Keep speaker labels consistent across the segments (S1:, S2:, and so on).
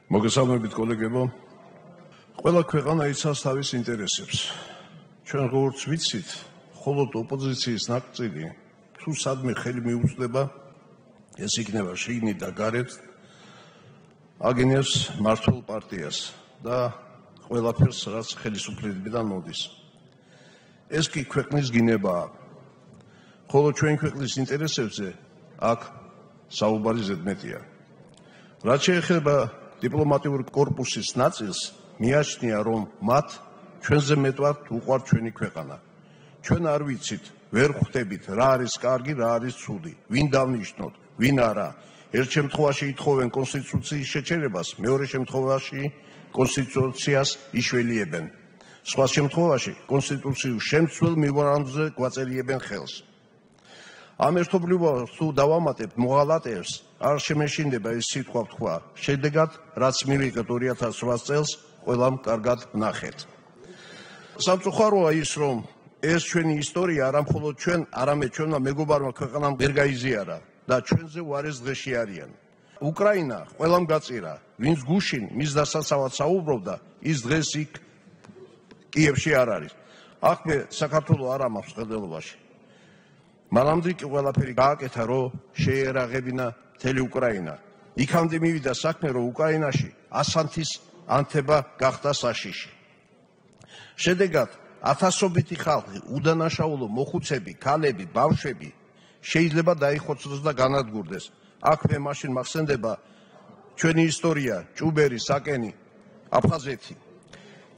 S1: მოგესალმებით კოლეგებო. ყველა ქვეყანა იცავს თავის ინტერესებს. ჩვენ როგორც ვიცით, მხოლოდ ოპოზიციის ნაკრძალი თუ სადმე ხელი მიუწვდება, ეს იქნება შიგნით და გარეთ, აგენებს მართულ პარტიას და ყველაფერს, რაც ხელისუფლებიდან მოდის. ეს კი ქვეყნის გინებაა. ხოლო ჩვენ ქვეყნის ინტერესებზე აქ საუბარი ზედმეტია. რაც შეეხება დიპლომატიურ კორპუსის ნაწილს, მიაჩნია, რომ მათ ჩვენზე მეტად უყვართ ჩვენი ქვეყანა. ჩვენ არ ვიცით, ვერ ხვდებით, რა არის კარგი, რა არის ცუდი, ვინ დავნიშნოთ, ვინ არა. ერთ შემთხვევაში ითხოვენ კონსტიტუციის შეჩერებას, მეორე შემთხვევაში კონსტიტუციას იშველიებენ. სხვა შემთხვევაში კონსტიტუციურ შემცველ მემორანდუმზე გვაწერიებენ ხელს. ამ ერთობლივობას თუ დავამატებთ მოღალატეებს, არ შემეშინდება ეს სიტყვა ვთქვა. შედეგად, რაც მივიღეთ 2008 წელს, ყველამ კარგად ვნახეთ. სამწუხაროა ის, რომ ეს ჩვენი ისტორია არა მხოლოდ ჩვენ, არამედ ჩვენმა მეგობარმა ქვეყანამ ვერ გაიზიარა და ჩვენზე უარეს დღეში არიან. უკრაინა ყველამ გაწირა, ვინც გუშინ მის დასაცავად საუბრობდა, ის დღეს იქ კიევში არ არის. აქ მე საქართველოს არ ამაქვს ხელდელობაში. მანამდე კი ყველაფერი გააკეთა, რომ შეერაღებინა მთელი უკრაინა. იქამდე მივიდა საქმე, რომ უკრაინაში ასანთის ანთება გახდა საშიში. შედეგად, ათასობითი ხალხი, უდანაშაულო მოხუცები, ქალები, ბავშვები შეიძლება დაიხოცოს და განადგურდეს. აქ მე მაშინ მახსენდება ჩვენი ისტორია, ჭუბერი, საკენი, აფხაზეთი.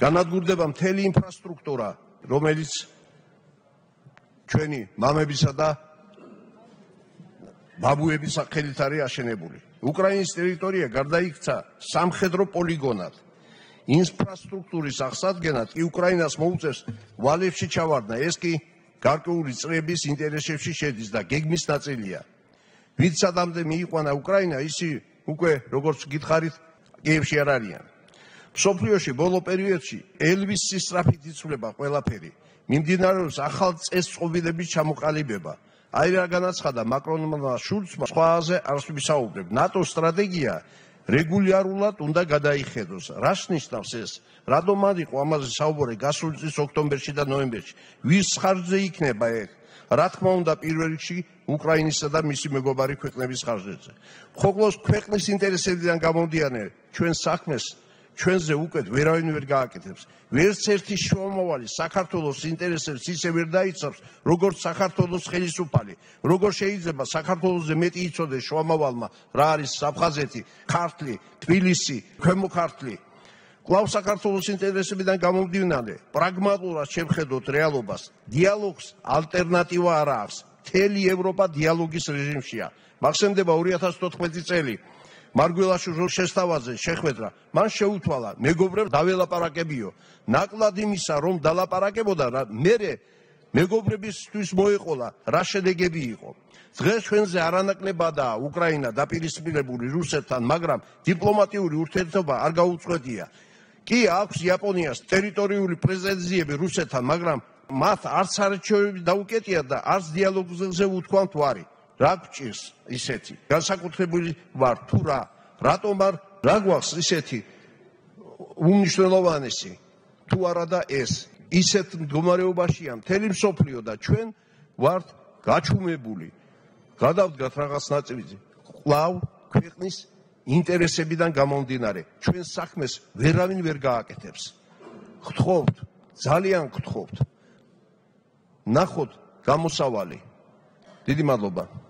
S1: განადგურდება მთელი ინფრასტრუქტურა, რომელიც ჩვენი მამებისა და ბაბუების სახელით არის აშენებული. უკრაინის ტერიტორია გარდაიქცა სამხედრო პოლიგონად. ინფრასტრუქტურის აღსადგენად კი უკრაინას მოუწევს ვალებში ჩავარდნა. ეს კი გარკვეული წრეების ინტერესებში შედის და გეგმის ნაწილია. ვინც სადამდე მიიყვანა უკრაინა, ისი უკვე როგორც გითხარით, კიევში არ არიან. მსოფლიოში ბოლო პერიოდში ელვის სისწრაფით იცვლება ყველაფერი. მიმდინარეობს ახალ წესწყობილების ჩამოყალიბება. აი რა განაცხადა მაკრონმა შულცმა, სხვაზე არ ვისაუბრებ. ნატოს სტრატეგია რეგულარულად უნდა გადაიხედოს. რას ნიშნავს ეს? რატომ არ იყო ამაზე საუბარი გასული წლის ოქტომბერში და ნოემბერში? ვის ხარჯზე იქნება ეს? რა თქმა უნდა, პირველ რიგში უკრაინისა და მისი მეგობარი ქვეყნების ხარჯზე. მხოლოდ ქვეყნის ინტერესებიდან გამომდინარე, ჩვენ საქმეს ჩვენზე უკეთ ვერავინ ვერ გააკეთებს. ვერც ერთი შუამავალი საქართველოს ინტერესებს ისე ვერ დაიცავს, როგორც საქართველოს ხელისუფალი. როგორ შეიძლება საქართველოსზე მეტი იცოდეს შუამავალმა, რა არის აფხაზეთი, ქართლი, თბილისი, ქვემო ქართლი. კვლავ საქართველოს ინტერესებიდან გამომდინარე, პრაგმატულად შევხედოთ რეალობას. დიალოგს ალტერნატივა არ აქვს. მთელი ევროპა დიალოგის რეჟიმშია. მახსენდება 2014 წელი. მარგველაშვილის შესთავაზე შეხვედრა, მან შეუთვალა, მეგობრებს დაველაპარაკებიო. ნაკლად იმისა, რომ დალაპარაკებოდა, მერე მეგობრებისთვის მოეყოლა, რა შედეგები იყო. დღეს ჩვენზე არანაკლებადაა უკრაინა დაპირისპირებული რუსეთთან, მაგრამ დიპლომატიური ურთიერთობა არ გაუწყვეტია. კი აქვს იაპონიას ტერიტორიული პრეტენზიები რუსეთთან, მაგრამ მათ არც არჩევები დაუკეტია და არც დიალოგზე უთქვამთ ვარი. რა გჭირს ისეთი? განსაკუთრებული ვარ თუ რა? რატომ არ რა გვაქვს ისეთი უმნიშვნელოვანესი? თუ არა და ეს ისეთ მდგომარეობაშია მთელი მსოფლიო და ჩვენ ვართ გაჩუმებული. გადავდგათ რაღაც ნაწილზე. კვლავ ქვეყნის ინტერესებიდან გამომდინარე, ჩვენ საქმეს ვერავინ ვერ გააკეთებს. გთხოვთ, ძალიან გთხოვთ. ნახოთ გამოსავალი. დიდი მადლობა.